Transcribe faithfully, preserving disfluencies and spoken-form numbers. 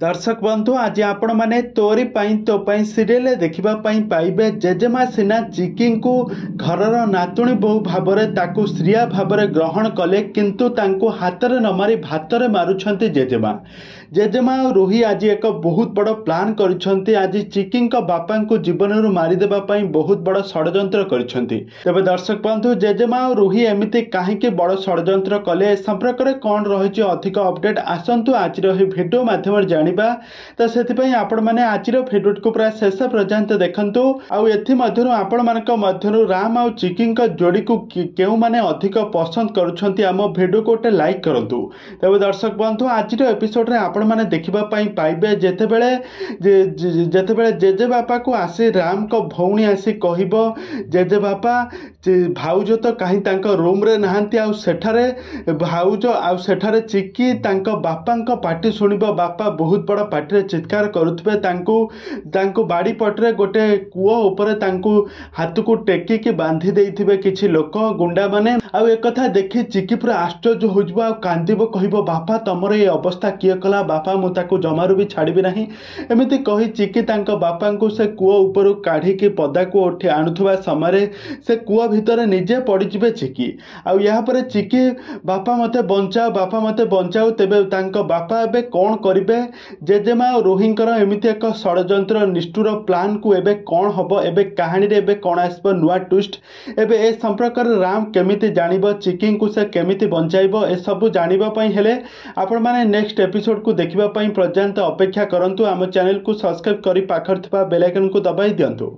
ଦର୍ଶକ ବନ୍ଧୁ, ଆଜି ଆପଣମାନେ ତୋରି ପାଇଁ ତୋ ପାଇଁ ସିରିଏଲ ଦେଖିବା ପାଇଁ ପାଇବେ। ଜେଜେମା ସିନା ଚିକିଙ୍କୁ ଘରର ନାତୁଣୀ ବୋହୂ ଭାବରେ ତାକୁ ଶ୍ରିୟା ଭାବରେ ଗ୍ରହଣ କଲେ, କିନ୍ତୁ ତାଙ୍କୁ ହାତରେ ନ ମାରି ଭାତରେ ମାରୁଛନ୍ତି ଜେଜେମା। ଜେଜେମା ଆଉ ରୁହି ଆଜି ଏକ ବହୁତ ବଡ଼ ପ୍ଲାନ୍ କରିଛନ୍ତି। ଆଜି ଚିକିଙ୍କ ବାପାଙ୍କୁ ଜୀବନରୁ ମାରିଦେବା ପାଇଁ ବହୁତ ବଡ଼ ଷଡ଼ଯନ୍ତ୍ର କରିଛନ୍ତି। ତେବେ ଦର୍ଶକ ବନ୍ଧୁ, ଜେଜେମା ଆଉ ରୁହି ଏମିତି କାହିଁକି ବଡ଼ ଷଡ଼ଯନ୍ତ୍ର କଲେ, ଏ ସମ୍ପର୍କରେ କ'ଣ ରହିଛି ଅଧିକ ଅପଡେଟ୍, ଆସନ୍ତୁ ଆଜିର ଏହି ଭିଡ଼ିଓ ମାଧ୍ୟମରେ ଜାଣିବା। ତ ସେଥିପାଇଁ ଆପଣମାନେ ଆଜିର ଭିଡ଼ିଓଟିକୁ ପୁରା ଶେଷ ପର୍ଯ୍ୟନ୍ତ ଦେଖନ୍ତୁ। ଆଉ ଏଥିମଧ୍ୟରୁ ଆପଣମାନଙ୍କ ମଧ୍ୟରୁ ରାମ ଆଉ ଚିକିଙ୍କ ଯୋଡ଼ିକୁ କେଉଁମାନେ ଅଧିକ ପସନ୍ଦ କରୁଛନ୍ତି, ଆମ ଭିଡ଼ିଓକୁ ଗୋଟେ ଲାଇକ୍ କରନ୍ତୁ। ତେବେ ଦର୍ଶକ ବନ୍ଧୁ, ଆଜିର ଏପିସୋଡ଼ରେ ଆପଣମାନେ ଦେଖିବା ପାଇଁ ପାଇବେ, ଯେତେବେଳେ ଯେତେବେଳେ ଜେଜେବାପାକୁ ଆସି ରାମଙ୍କ ଭଉଣୀ ଆସି କହିବ, ଜେଜେବାପା, ଭାଉଜ ତ କାହିଁ ତାଙ୍କ ରୁମ୍ରେ ନାହାନ୍ତି। ଆଉ ସେଠାରେ ଭାଉଜ ଆଉ ସେଠାରେ ଚିକି ତାଙ୍କ ବାପାଙ୍କ ପାଟି ଶୁଣିବ। ବାପା ବହୁତ ବଡ଼ ପାଟିରେ ଚିତ୍କାର କରୁଥିବେ। ତାଙ୍କୁ ତାଙ୍କୁ ବାଡ଼ି ପଟରେ ଗୋଟେ କୂଅ ଉପରେ ତାଙ୍କୁ ହାତକୁ ଟେକିକି ବାନ୍ଧି ଦେଇଥିବେ କିଛି ଲୋକ ଗୁଣ୍ଡାମାନେ। ଆଉ ଏକଥା ଦେଖି ଚିକି ପୁରା ଆଶ୍ଚର୍ଯ୍ୟ ହୋଇଯିବ ଆଉ କାନ୍ଦିବ, କହିବ, ବାପା, ତମର ଏ ଅବସ୍ଥା କିଏ କଲା? ବାପା, ମୁଁ ତାକୁ ଜମାରୁ ବି ଛାଡ଼ିବି ନାହିଁ। ଏମିତି କହି ଚିକି ତାଙ୍କ ବାପାଙ୍କୁ ସେ କୂଅ ଉପରୁ କାଢ଼ିକି ପଦାକୁ ଉଠି ଆଣୁଥିବା ସମୟରେ ସେ କୂଅ ଭିତରେ ନିଜେ ପଡ଼ିଯିବେ ଚିକି। ଆଉ ଏହାପରେ ଚିକି, ବାପା ମୋତେ ବଞ୍ଚାଅ, ବାପା ମୋତେ ବଞ୍ଚାଅ। ତେବେ ତାଙ୍କ ବାପା ଏବେ କ'ଣ କରିବେ? ଜେଜେମା ଆଉ ରୋହିଙ୍କର ଏମିତି ଏକ ଷଡ଼ଯନ୍ତ୍ର ନିଷ୍ଠୁର ପ୍ଲାନ୍କୁ ଏବେ କ'ଣ ହେବ? ଏବେ କାହାଣୀରେ ଏବେ କ'ଣ ଆସିବ ନୂଆ ଟ୍ୱିଷ୍ଟ? ଏବେ ଏ ସମ୍ପର୍କରେ ରାମ କେମିତି ଜାଣିବ? ଚିକିଙ୍କୁ ସେ କେମିତି ବଞ୍ଚାଇବ? ଏସବୁ ଜାଣିବା ପାଇଁ ହେଲେ ଆପଣମାନେ ନେକ୍ସଟ ଏପିସୋଡ଼କୁ ଦେଖିବା ପାଇଁ ପର୍ଯ୍ୟନ୍ତ ଅପେକ୍ଷା କରନ୍ତୁ। ଆମ ଚ୍ୟାନେଲକୁ ସବସ୍କ୍ରାଇବ୍ କରି ପାଖରେ ଥିବା ବେଲ୍ ଆଇକନ୍କୁ ଦବାଇ ଦିଅନ୍ତୁ।